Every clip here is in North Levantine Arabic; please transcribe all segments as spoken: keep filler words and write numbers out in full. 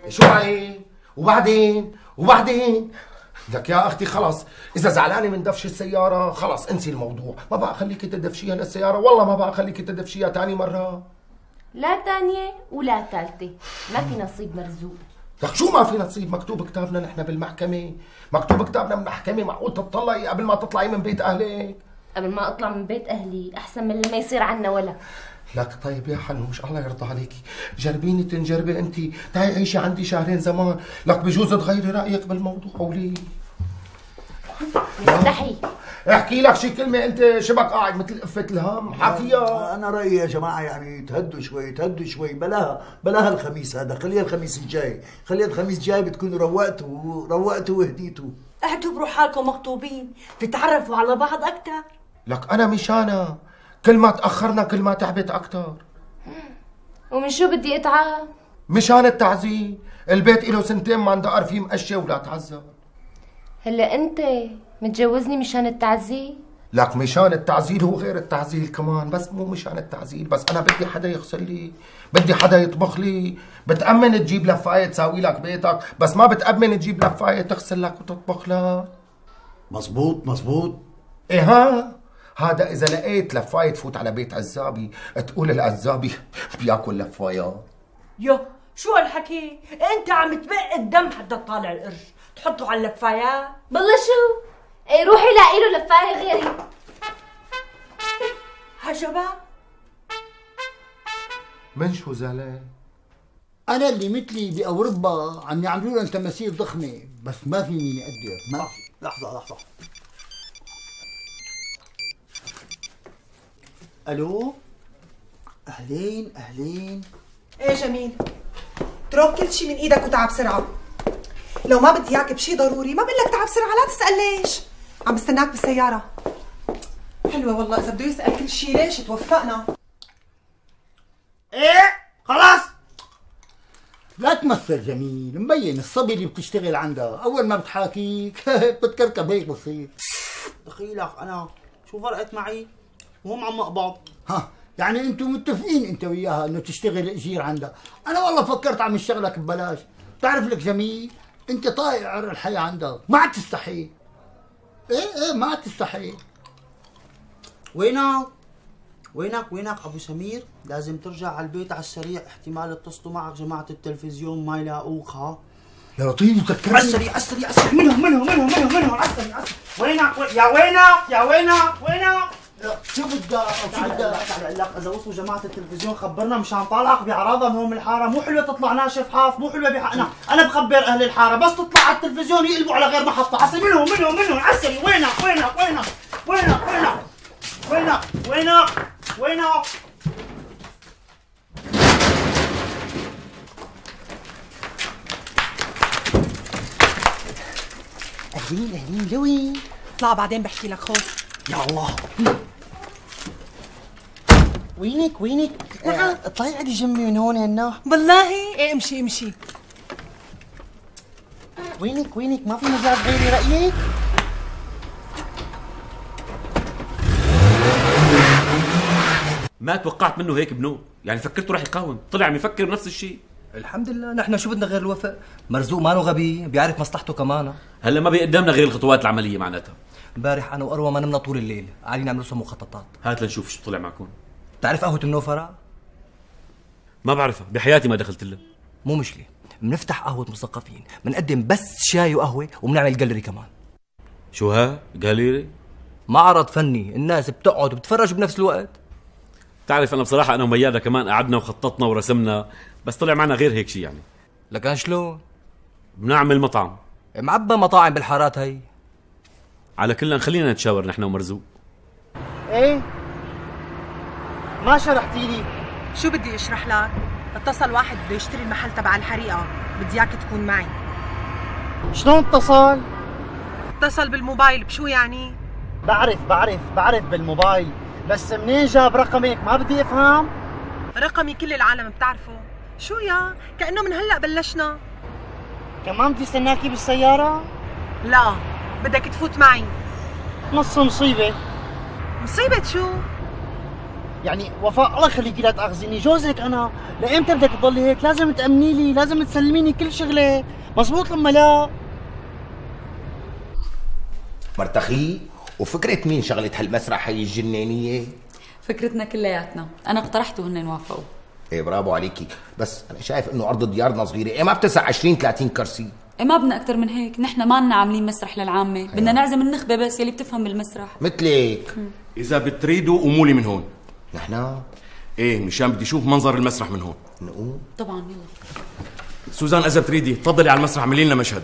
شو عليه؟ وبعدين وبعدين لك يا اختي خلص، اذا زعلانه من دفش السياره خلص انسي الموضوع، ما بقى خليكي تدفشيها للسياره، والله ما بقى خليكي تدفشيها ثاني مره. لا ثانيه ولا ثالثه، ما في نصيب مرزوق. لك شو ما في نصيب؟ مكتوب كتابنا نحن بالمحكمه، مكتوب كتابنا بالمحكمه. معقول تطلعي قبل ما تطلعي من بيت اهلك؟ قبل ما اطلع من بيت اهلي احسن من اللي ما يصير عنا ولا. لك طيب يا حنوش الله يرضى عليكي، جربيني تنجربي انت، تعي عيشي عندي شهرين زمان، لك بجوز تغيري رايك بالموضوع. ولي مستحي احكي لك شي كلمه، انت شبك قاعد مثل قفه الهم حاكيها. انا رايي يا جماعه يعني تهدوا شوي تهدوا شوي، بلاها بلاها الخميس هذا، خليها الخميس الجاي، خليها الخميس الجاي بتكونوا روقتوا روقتوا وهديتوا. اعتبروا حالكم مخطوبين تتعرفوا على بعض اكثر. لك انا مشانا كل ما تاخرنا كل ما تعبت اكثر. ومن شو بدي اتعب؟ مشان التعذيب، البيت له سنتين ما اندقر فيه مقشه ولا تعذب. هلا انت متجوزني مشان التعذيب؟ لك مشان التعزيل هو غير التعزيل كمان، بس مو مشان التعزيل بس. انا بدي حدا يغسل لي، بدي حدا يطبخ لي، بتأمن تجيب لفاية تساوي لك بيتك، بس ما بتأمن تجيب لفاية تغسل لك وتطبخ لك. مزبوط مزبوط. ايه ها؟ هذا اذا لقيت لفاية تفوت على بيت عزابي تقول العزابي بياكل لفايات. يو شو هالحكي؟ انت عم تبق الدم حتى تطالع القرش، تحطه على اللفايات؟ بالله شو؟ ايه روحي لاقي له لفاية غيري. عجبا؟ من شو زعلان؟ انا اللي مثلي باوروبا عم يعملوا لهم تماثيل ضخمه، بس ما في مين يقدر. ما في. لحظه لحظه. الو اهلين اهلين. ايه جميل، اترك كل شيء من ايدك وتعب بسرعه. لو ما بدي اياك بشيء ضروري ما بقول لك تعب بسرعه، لا تسال ليش. عم بستناك بالسياره. حلوه والله، اذا بده يسال كل شيء ليش توفقنا. ايه خلاص لا تمثل جميل، مبين الصبي اللي بتشتغل عندها، اول ما بتحاكيك بتكركب هيك بتصير. دخيلك انا شو فرقت معي؟ وهم عم اقبض. ها يعني انتم متفقين انت وياها انه تشتغل اجير عندها. انا والله فكرت عم اشتغلك ببلاش. بتعرف لك جميل انت طايق عر الحياه عندها، ما عاد تستحي. ايه ايه ما عاد تستحي. وينك؟ وينك وينك ابو سمير؟ لازم ترجع على البيت على السريع، احتمال يتصلوا معك جماعه التلفزيون ما يلاقوك. ها يا لطيف ذكرني. على السريع على السريع على السريع، منهم منهم منهم منهم منهم على السريع على السريع. وينك يا وينك يا وينك وينك؟ شو بدك شو بدك؟ تعال لك اذا وصلوا جماعه التلفزيون خبرنا مشان طالعك بعراضه من هون من الحاره، مو حلوه تطلع ناشف حاف، مو حلوه بحقنا. انا بخبر اهل الحاره بس تطلع على التلفزيون يقلبوا على غير محطه. عسى منهم منهم منهم على السريع. وينك وينك وينك وينك وينك وينك وينك وينك؟ اهلين اهلين لوين؟ اطلع بعدين بحكي لك. خوف يا الله. وينك وينك؟ نعم اطلعي عندي جنبي من هون هنا. والله ايه امشي امشي. وينك وينك؟ ما في مجال تغيري رايك؟ ما توقعت منه هيك بنو، يعني فكرته رح يقاوم، طلع عم يفكر بنفس الشيء. الحمد لله، نحن شو بدنا غير الوفاء؟ مرزوق مانو غبي، بيعرف مصلحته كمان. هلا ما بيقدمنا غير الخطوات العمليه معناتها. امبارح انا واروى ما نمنا طول الليل، قاعدين نعمل لسه مخططات. هات لنشوف شو طلع معكم. بتعرف قهوة النوفرة؟ ما بعرفها، بحياتي ما دخلت لها. مو مشكلة، بنفتح قهوة مثقفين، بنقدم بس شاي وقهوة وبنعمل جاليري كمان. شو ها؟ جاليري؟ معرض فني، الناس بتقعد وبتتفرج بنفس الوقت. تعرف انا بصراحة انا وميادة كمان قعدنا وخططنا ورسمنا، بس طلع معنا غير هيك شيء يعني. لكن شلون؟ بنعمل مطعم. معبى مطاعم بالحارات هي. على كلنا خلينا نتشاور نحن ومرزوق. ايه ما شرحتي لي. شو بدي اشرح لك؟ اتصل واحد بده يشتري المحل تبع الحريقه، بدي اياك تكون معي. شلون اتصل؟ اتصل بالموبايل. بشو يعني؟ بعرف بعرف بعرف بالموبايل، بس منين جاب رقمك؟ ما بدي افهم. رقمي كل العالم بتعرفه. شو يا؟ كأنه من هلأ بلشنا. كمان بدي استناكي بالسيارة؟ لا، بدك تفوت معي. نص مصيبة. مصيبة شو؟ يعني وفاء الله يخليكي لا تاخذيني، جوزك انا، لايمتى بدك تضلي هيك؟ لازم تامني لي، لازم تسلميني كل شغله، مزبوط لما لا؟ مرتخي وفكرة مين شغلة هالمسرح هي الجنانية؟ فكرتنا كلياتنا، انا اقترحت وهن وافقوا. ايه برافو عليكي، بس انا شايف انه ارض ديارنا صغيرة، ايه ما بتسع عشرين ثلاثين كرسي؟ ايه ما بدنا اكثر من هيك، نحن ما لنا عاملين مسرح للعامة، بدنا نعزم النخبة بس يلي بتفهم بالمسرح. مثلك. اذا بتريدوا قوموا لي من هون. نحن؟ ايه مشان بدي اشوف منظر المسرح من هون. نقوم؟ طبعا يلا. سوزان اذا بتريدي تفضلي على المسرح اعملي لنا مشهد.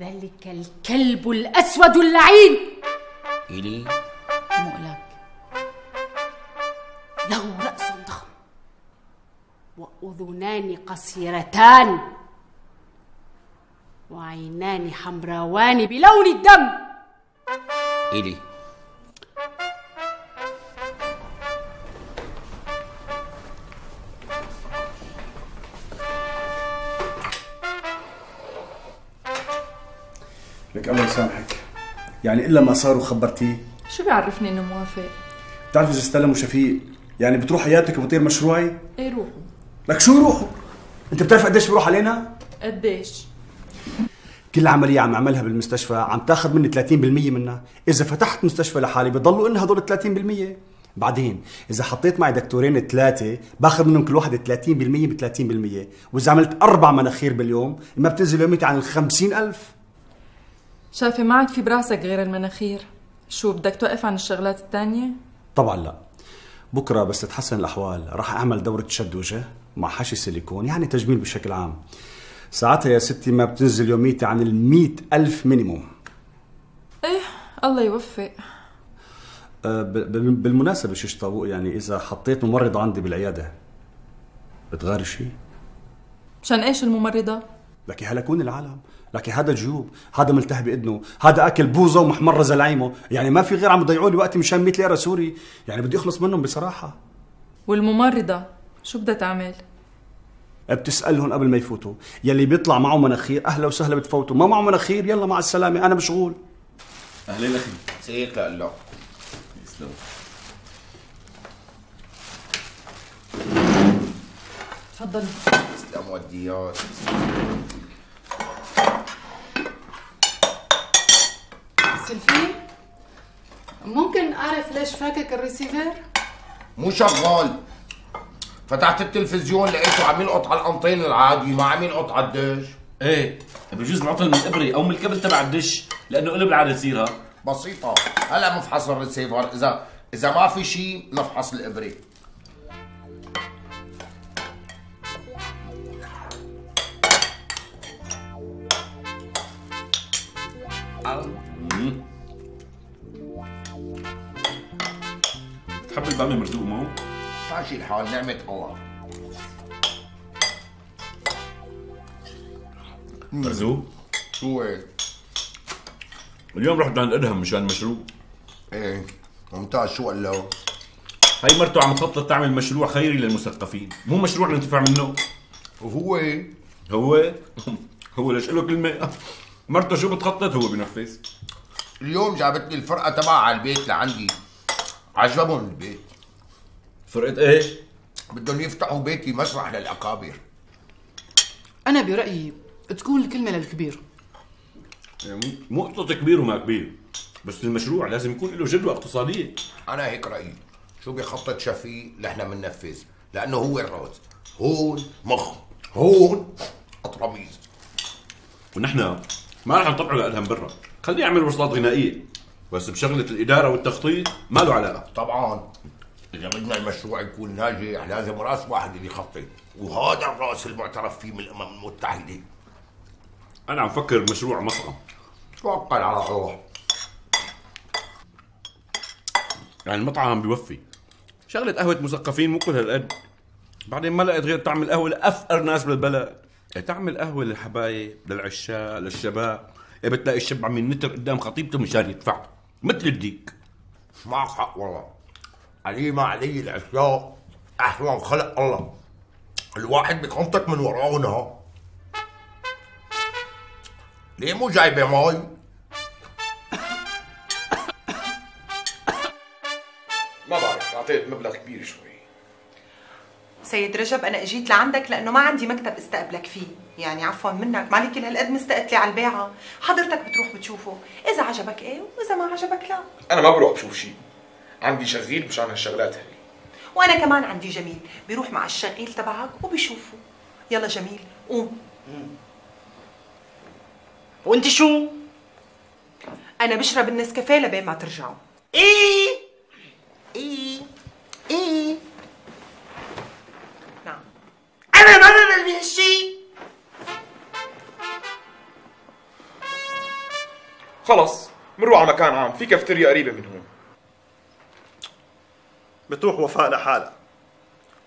ذلك الكلب الأسود اللعين إلي مقلك له رأس ضخم وأذنان قصيرتان وعينان حمراوان بلون الدم. إلي لك الله يسامحك، يعني إلا ما صار وخبرتيه؟ شو بيعرفني إنه موافق؟ بتعرف إذا استلم وشفيق يعني بتروح حياتك وبطير مشروعي؟ إيه روحوا. لك شو يروحوا؟ أنت بتعرف قديش بروح علينا؟ قديش؟ كل عملية عم أعملها بالمستشفى عم تاخذ مني ثلاثين بالمية منها، إذا فتحت مستشفى لحالي بضلوا إنها هدول ثلاثين بالمية، بعدين إذا حطيت معي دكتورين ثلاثة باخذ منهم كل واحد ثلاثين بالمية ب ثلاثين بالمية، وإذا عملت أربع مناخير باليوم ما بتنزل يوميتي عن الخمسين ألف. شايفة ما عاد في براسك غير المناخير، شو بدك توقف عن الشغلات التانية؟ طبعا لا، بكرة بس تتحسن الأحوال راح أعمل دورة شد وجه مع حشي سيليكون، يعني تجميل بشكل عام. ساعتها يا ستي ما بتنزل يوميتي عن المئة ألف مينيموم. ايه الله يوفق. أه بالمناسبة شيش طاووق، يعني إذا حطيت ممرضة عندي بالعيادة بتغاري شيء؟ مشان ايش الممرضة؟ لكي هلكون العالم، لكي هذا جيوب، هذا ملتهي بإذنه، هذا أكل بوزة ومحمرة زلايمه، يعني ما في غير عم يضيعوا لي وقتي مشان مية ليرة سوري، يعني بدي أخلص منهم بصراحة. والممرضة شو بدها تعمل؟ بتسألهم قبل ما يفوتوا، يلي بيطلع معه مناخير أهلا وسهلا بتفوتوا، ما معه مناخير يلا مع السلامة أنا مشغول. أهلين أخي. سيك لله. يسلم. تفضلي. تسلم وديات. سلفي ممكن أعرف ليش فاكك الريسيفر؟ مو شغال، فتحت التلفزيون لقيته عم يلقط على القنطين العادي ما عم يلقط على الدش. ايه بجوز العطل من الابره او من الكبل تبع الدش لانه قلب العاده تصيرها بسيطه. هلا مفحص الريسيفر، اذا اذا ما في شيء نفحص الابره. تحب الباميه مرزوق مو؟ ماشي الحال نعمة الله. مرزوق؟ شو هيك؟ اليوم رحت عند ادهم مشان مشروع. ايه ممتاز. شو قال له؟ هي مرته عم تخطط تعمل مشروع خيري للمثقفين، مو مشروع ننتفع منه. وهو هو هو ليش له كلمه؟ مرته شو بتخطط هو بنفذ. اليوم جابت لي الفرقه تبعها على البيت لعندي، عجبهم البيت. فرقه ايه؟ بدهم يفتحوا بيتي مسرح للاكابر. أنا برأيي تكون الكلمة للكبير. يعني مو قصة كبير وما كبير، بس المشروع لازم يكون له جدوى اقتصادية. أنا هيك رأيي. شو بيخطط شفيق نحن بننفذ، لأنه هو الراس، هون مخ، هون أطرميز. ونحن ما رح نطبعه لأدهم برا، خليه يعمل وصلات غنائية، بس بشغلة الإدارة والتخطيط ما له علاقة. طبعا إذا بدنا المشروع يكون ناجح لازم راس واحد اللي يخطط، وهذا الراس المعترف فيه من الأمم المتحدة. أنا عم فكر بمشروع مطعم. توكل على الله. يعني المطعم بيوفي، شغلة قهوة مثقفين مو كل هالقد، بعدين ما لقيت غير تعمل قهوة لأفقر ناس بالبلد، تعمل قهوة للحبايب للعشاق للشباب، بتلاقي الشاب عم ينتر قدام خطيبته مشان يدفع مثل الديك. معك حق والله. علي ما علي العشاق أحسن خلق الله، الواحد بيقنطك من وراءنا. ليه مو جايبة مي؟ ما بعرف، اعطيت مبلغ كبير شوي. سيد رجب انا اجيت لعندك لانه ما عندي مكتب استقبلك فيه، يعني عفوا منك مالي كل هالقد مستقتلي على البيعه، حضرتك بتروح بتشوفه، اذا عجبك ايه واذا ما عجبك لا. انا ما بروح بشوف شيء، عندي شغيل مشان هالشغلات هي. وانا كمان عندي جميل بيروح مع الشغيل تبعك وبيشوفه. يلا جميل قوم. وانت شو؟ انا بشرب النسكافيه لبين ما ترجعوا. ايه ايه ايه نعم. انا ما بعمل بهالشيء. خلص بنروح على مكان عام، في كافتيريا قريبه من هون. بتروح وفاء لحالها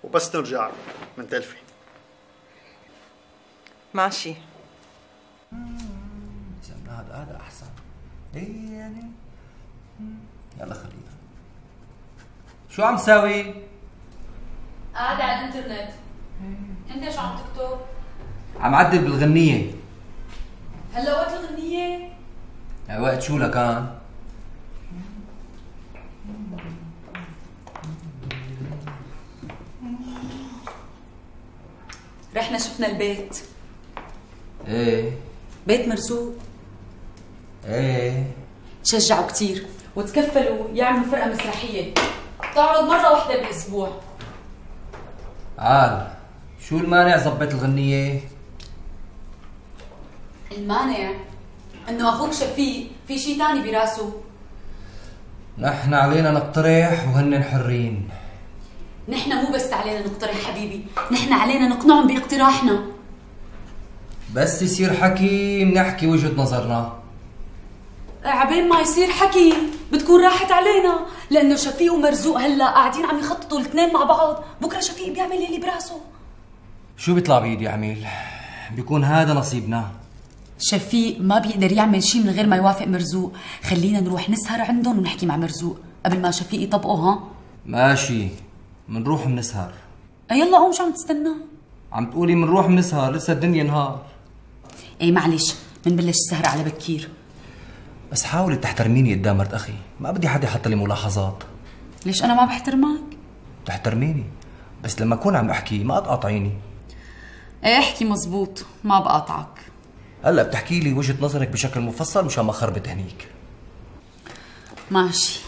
وبس ترجع من تلفي. ماشي. هذا هذا احسن. ايه يعني يلا خلينا. شو عم تساوي؟ قاعدة على الانترنت. انت شو عم تكتب؟ عم عدل بالغنية. هلا وقت الغنية؟ وقت شو لكان؟ رحنا شفنا البيت. ايه بيت مرزوق. ايه شجعوا كتير وتكفلوا يعملوا فرقة مسرحية تعرض مرة واحدة بالأسبوع. عال شو المانع زبط الغنية؟ المانع انه اخوك شفيق في شي تاني براسه. نحن علينا نقترح وهن حرين. نحن مو بس علينا نقترح حبيبي، نحن علينا نقنعهم باقتراحنا. بس يصير حكي بنحكي وجهة نظرنا. عبين ما يصير حكي بتكون راحت علينا، لانه شفيق ومرزوق هلا قاعدين عم يخططوا الاثنين مع بعض، بكره شفيق بيعمل يلي براسه. شو بيطلع بايدي عميل؟ بيكون هذا نصيبنا. شفيق ما بيقدر يعمل شيء من غير ما يوافق مرزوق، خلينا نروح نسهر عندهم ونحكي مع مرزوق قبل ما شفيق يطبقه. ها ماشي منروح منسهر. يلا قوم شو عم تستنى؟ عم تقولي منروح منسهر لسه الدنيا نهار. ايه معلش منبلش السهر على بكير. بس حاولي تحترميني قدام مرت اخي، ما بدي حدا يحط لي ملاحظات. ليش انا ما بحترمك؟ تحترميني بس لما اكون عم احكي ما تقاطعيني. ايه احكي مزبوط ما بقاطعك. هلا بتحكي لي وجهة نظرك بشكل مفصل مشان ما خربت هنيك. ماشي